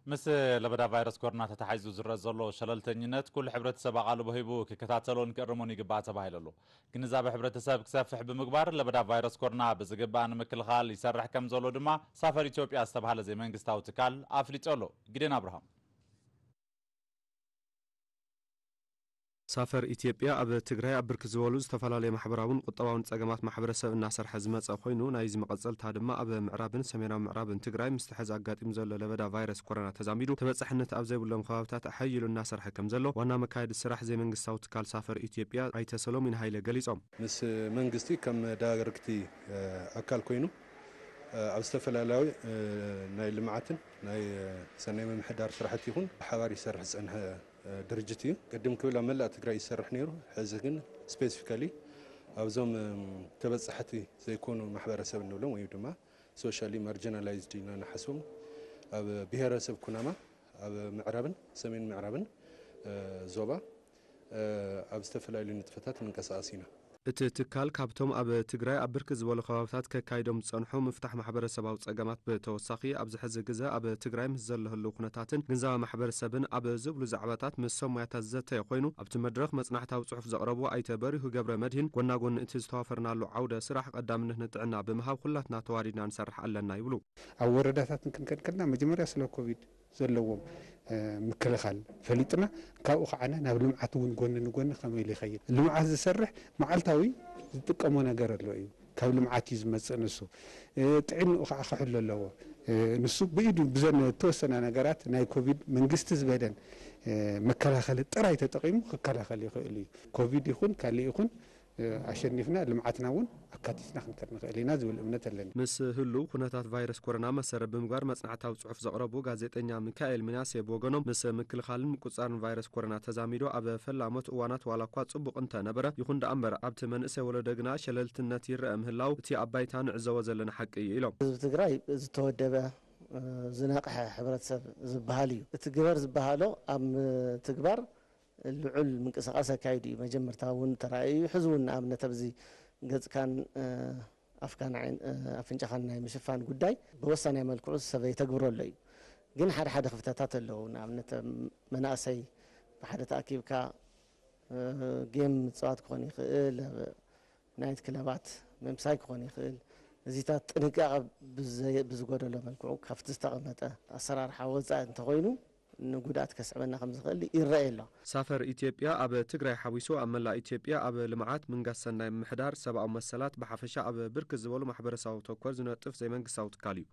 ምስ ለበዳ ቫይረስ ኮሮና ተታሒዙ ዝረአ ዘሎ ሸለልተኝነት ኩሉ ሕብረተሰብ ኣቓልቦ ሂቡ ክከታተሎን ክእርሞን ይግባእ ተባሂሉ ኣሎ። ግንዛበ ሕብረተሰብ ክሰፍሕ ብምግባር ለበዳ ቫይረስ ኮሮና ብዝግባእ ንምክልኻል ይሰርሕ ከም ዘሎ ድማ ሳፈር ኢትዮጵያ ዝተባህለ ዘይመንግስታዊ ትካል ኣፍሊጡ ኣሎ። ግዴን ኣብርሃም። ሳፈር ኢትዮጵያ ኣብ ትግራይ ኣብ ብርክት ዝበሉ ዝተፈላለዩ ማሕበራውን ቁጠባውን ጸገማት ማሕበረሰብ እናሰርሐ ዝመጸ ኮይኑ፣ ናይዚ መቐጸልታ ድማ ኣብ ምዕራብን ሰሜናዊ ምዕራብን ትግራይ ምስ ተሐዚ ኣጋጢሙ ዘሎ ለበዳ ቫይረስ ኮሮና ተዛሚዱ ተበጻሕነት ኣብ ዘይብሎም ከባብታት ኣሐይሉ እናሰርሐ ከም ዘሎ ዋና መካየዲ ስራሕ ዘይመንግስታዊ ትካል ሳፈር ኢትዮጵያ ኣይተ ሰሎሚን ሃይለ ገሊጾም። ምስ መንግስቲ ከም ዳይሬክት ኣካል ኮይኑ ኣብ ዝተፈላለዩ ናይ ልምዓትን ናይ ሰናይ ምምሕዳር ስራሕቲ ይኹን ብሓባር ይሰርሕ ዝጸንሐ ድርጅት እዩ። ቅድም ክብል ኣብ መላእ ትግራይ ይሰርሕ ነይሩ። ሕዚ ግን ስፔሲፊካሊ ኣብዞም ተበጻሕቲ ዘይኮኑ ማሕበረሰብ እንብሎም ወይ ድማ ሶሻሊ ማርጂናላይዝድ ኢና ንሓስቦም ኣብ ብሄረሰብ ኩናማ ኣብ ምዕራብን ሰሜን ምዕራብን ዞባ ኣብ ዝተፈላለዩ ንጥፈታት ንንቀሳቐስ ኢና። እቲ ትካል ካብቶም ኣብ ትግራይ ኣብ ብርክት ዝበሉ ከባብታት ከካይዶም ዝጸንሑ ምፍታሕ ማሕበረሰባዊ ጸገማት ብተወሳኺ ኣብዚ ሕዚ ግዘ ኣብ ትግራይ ምስ ዘሎ ህልው ኩነታትን ግንዛበ ማሕበረሰብን ኣብ ዝብሉ ዛዕባታት ምስ ሰብ ሞያታት ዝዘተየ ኮይኑ ኣብቲ መድረኽ መጽናዕታዊ ጽሑፍ ዘቕረቡ ኣይተ በሪሁ ገብረ መድሂን ጎና ጎኒ እቲ ዝተዋፈርናሉ ዓውደ ስራሕ ቀዳምነት ንጥዕና ብምሃብ ኩላትና ተዋዲድና ንሰርሕ ኣለና ይብሉ። ኣብ ወረዳታትን ክንከድከልና መጀመርያ ስለ ኮቪድ ዘለዎም ምክልኻል ፈሊጥና ካብኡ ከዓነ ናብ ልምዓት እውን ጎኒ ንጎኒ ከመይ ኢሉ ይኸይድ። ልምዓት ዝሰርሕ መዓልታዊ ዝጥቀሞ ነገር ኣሎ እዩ። ካብ ልምዓት እዩ ዝመፅእ ንሱ። ጥዕንኡ ከዓ ክሕሉ ኣለዎ። ንሱ ብኢዱ ብዘን ተወሰና ነገራት ናይ ኮቪድ መንግስቲ ዝበደን መከላኸሊ ጥራይ ተጠቂሙ ክከላኸል ይኽእል እዩ። ኮቪድ ይኹን ካልእ ይኹን ኣሸኒፍና ልምዓትና እውን ኣካቲትና ክንከድ ንኽእል ኢና ዝብል እምነት ኣለኒ። ምስ ህሉው ኩነታት ቫይረስ ኮሮና መሰረት ብምግባር መጽናዕታዊ ጽሑፍ ዘቕረቡ ጋዜጠኛ ሚካኤል ሚናሴ ብወገኖም፣ ምስ ምክልኻልን ምቁጽጻርን ቫይረስ ኮሮና ተዛሚዶ ኣብ ፈላሞት እዋናት ዋላ እኳ ጽቡቕ እንተነበረ፣ ይኹን ደኣ እምበር ኣብቲ መንእሰይ ወለዶ ግና ሸለልትነት ይረአ ምህላው እቲ ኣብ ባይታ ንዕዘቦ ዘለና ሓቂ እዩ ኢሎም። ህዝቢ ትግራይ ዝተወደበ ዝነቕሐ ሕብረተሰብ ዝበሃል እዩ። እቲ ግበር ዝበሃሎ ኣብ ትግባር ልዑል ምንቅስቃስ ኣካይዱ እዩ። መጀመርታ እውን ተራእዩ እዩ። ሕዚ እውን ንኣብነት ኣብዚ ገጽካን ኣፍካን ኣፍንጫኻን ናይ ምሽፋን ጉዳይ ብወሳናይ መልክዑ ሰብ የተግብሮ ኣሎ እዩ። ግን ሓደ ሓደ ክፍተታት ኣለዉ። ንኣብነት መናእሰይ ብሓደ ተኣኪብካ ጌም ምፅዋት ክኾን ይኽእል፣ ናይት ክለባት ምምሳይ ክኾን ይኽእል። እዚታት ጥንቃቐ ብዝጎደሎ መልክዑ ካብቲ ዝተቐመጠ ኣሰራርሓ ወፃኢ እንተኾይኑ ንጉድኣት ከስዕበና ከም ዝኽእል ይረኣይ ኣሎ። ሳፈር ኢትዮጵያ ኣብ ትግራይ ሓዊሱ ኣብ መላእ ኢትዮጵያ ኣብ ልምዓት፣ ምንጋስ ሰናይ ምምሕዳር፣ ሰብኣዊ መሰላት ብሓፈሻ ኣብ ብርክት ዝበሉ ማሕበረሰባዊ ተኮር ዝነጥፍ ዘይመንግስታዊ ትካል እዩ።